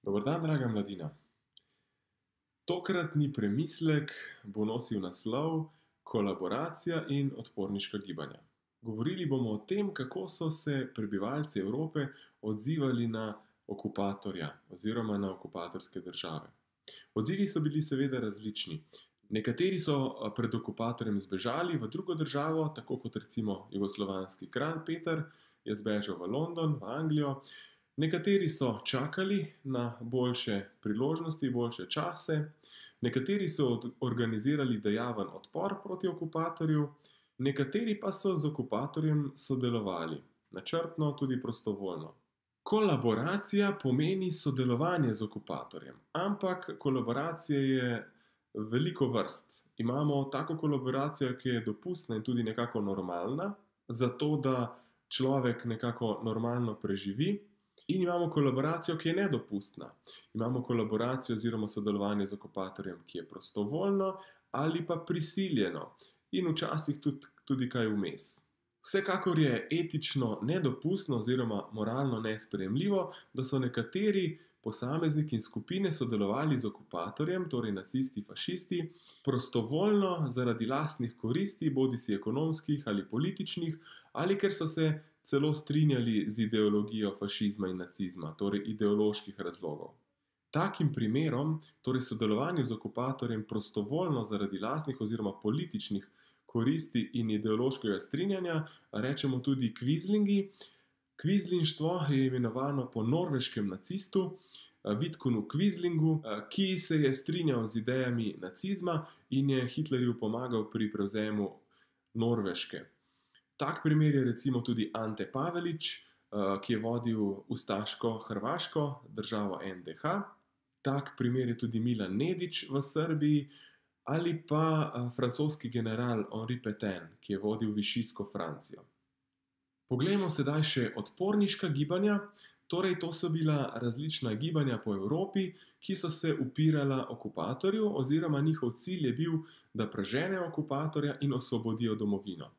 Dober dan, draga mladina. Tokratni premislek bo nosil naslov Kolaboracija in odporniška gibanja. Govorili bomo o tem, kako so se prebivalci Evrope odzivali na okupatorja oziroma na okupatorske države. Odzivi so bili seveda različni. Nekateri so pred okupatorjem zbežali v drugo državo, tako kot recimo jugoslovanski kralj Peter je zbežal v London, v Anglijo. Nekateri so čakali na boljše priložnosti, boljše čase, nekateri so organizirali dejaven odpor proti okupatorju, nekateri pa so z okupatorjem sodelovali, načrtno, tudi prostovoljno. Kolaboracija pomeni sodelovanje z okupatorjem, ampak kolaboracije je veliko vrst. Imamo tako kolaboracijo, ki je dopustna in tudi nekako normalna, zato da človek nekako normalno preživi. In imamo kolaboracijo, ki je nedopustna. Imamo kolaboracijo oziroma sodelovanje z okupatorjem, ki je prostovoljno ali pa prisiljeno. In včasih tudi kaj vmes. Vsekakor je etično nedopustno oziroma moralno nesprejemljivo, da so nekateri posamezniki in skupine sodelovali z okupatorjem, torej nacisti, fašisti, prostovoljno zaradi lastnih koristi, bodisi ekonomskih ali političnih, ali ker so se celo strinjali z ideologijo fašizma in nacizma, torej ideoloških razlogov. Takim primerom, torej sodelovanju z okupatorjem prostovoljno zaradi lastnih oziroma političnih koristi in ideološkega strinjanja, rečemo tudi kvizlingi. Kvizlinštvo je imenovano po norveškem nacistu Vidkunu Kvizlingu, ki se je strinjal z idejami nacizma in je Hitlerju pomagal pri prevzemu Norveške. Tak primer je recimo tudi Ante Pavelić, ki je vodil ustaško Hrvaško, državo NDH. Tak primer je tudi Milan Nedić v Srbiji ali pa francoski general Henri Pétain, ki je vodil Višijsko Francijo. Poglejmo sedaj še odporniška gibanja. Torej, to so bila različna gibanja po Evropi, ki so se upirala okupatorju oziroma njihov cilj je bil, da preženejo okupatorja in osvobodijo domovino.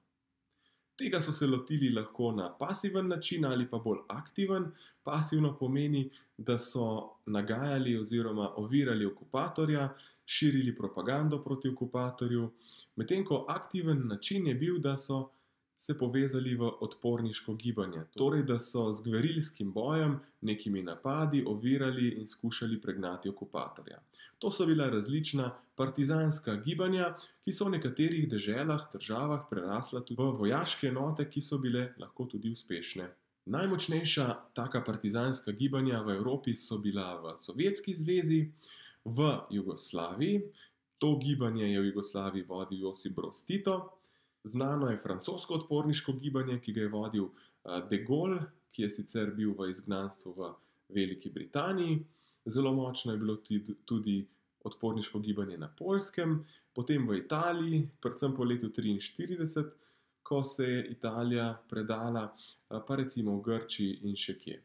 Tega so se lotili lahko na pasiven način ali pa bolj aktiven. Pasivno pomeni, da so nagajali oziroma ovirali okupatorja, širili propagando proti okupatorju, medtem ko aktiven način je bil, da so se povezali v odporniško gibanje. Torej, da so z gverilskim bojem, nekimi napadi, ovirali in skušali pregnati okupatorja. To so bila različna partizanska gibanja, ki so v nekaterih deželah, državah prerasla tudi v vojaške enote, ki so bile lahko tudi uspešne. Najmočnejša taka partizanska gibanja v Evropi so bila v Sovjetski zvezi, v Jugoslaviji. To gibanje je v Jugoslaviji vodil Josip Broz Tito. Znano je francosko odporniško gibanje, ki ga je vodil de Gaulle, ki je sicer bil v izgnanstvu v Veliki Britaniji. Zelo močno je bilo tudi odporniško gibanje na Poljskem, potem v Italiji, predvsem po letu 1943, ko se je Italija predala, pa recimo v Grčiji in še kje.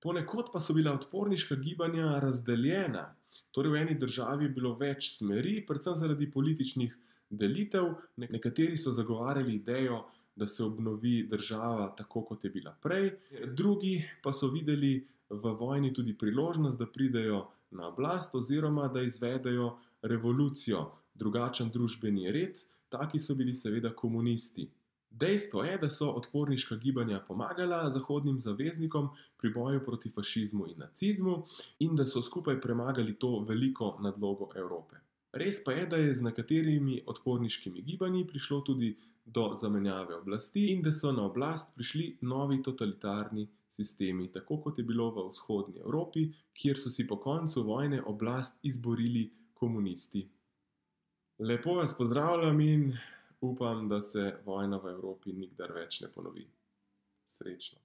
Ponekod pa so bila odporniška gibanja razdeljena. Torej, v eni državi je bilo več smeri, predvsem zaradi političnih delitev. Nekateri so zagovarjali idejo, da se obnovi država tako, kot je bila prej. Drugi pa so videli v vojni tudi priložnost, da pridejo na oblast oziroma da izvedejo revolucijo, drugačen družbeni red. Taki so bili seveda komunisti. Dejstvo je, da so odporniška gibanja pomagala zahodnim zaveznikom pri boju proti fašizmu in nacizmu in da so skupaj premagali to veliko nadlogo Evrope. Res pa je, da je z nekaterimi odporniškimi gibanji prišlo tudi do zamenjave oblasti in da so na oblast prišli novi totalitarni sistemi, tako kot je bilo v vzhodni Evropi, kjer so si po koncu vojne oblast izborili komunisti. Lepo vas pozdravljam in upam, da se vojna v Evropi nikdar več ne ponovi. Srečno.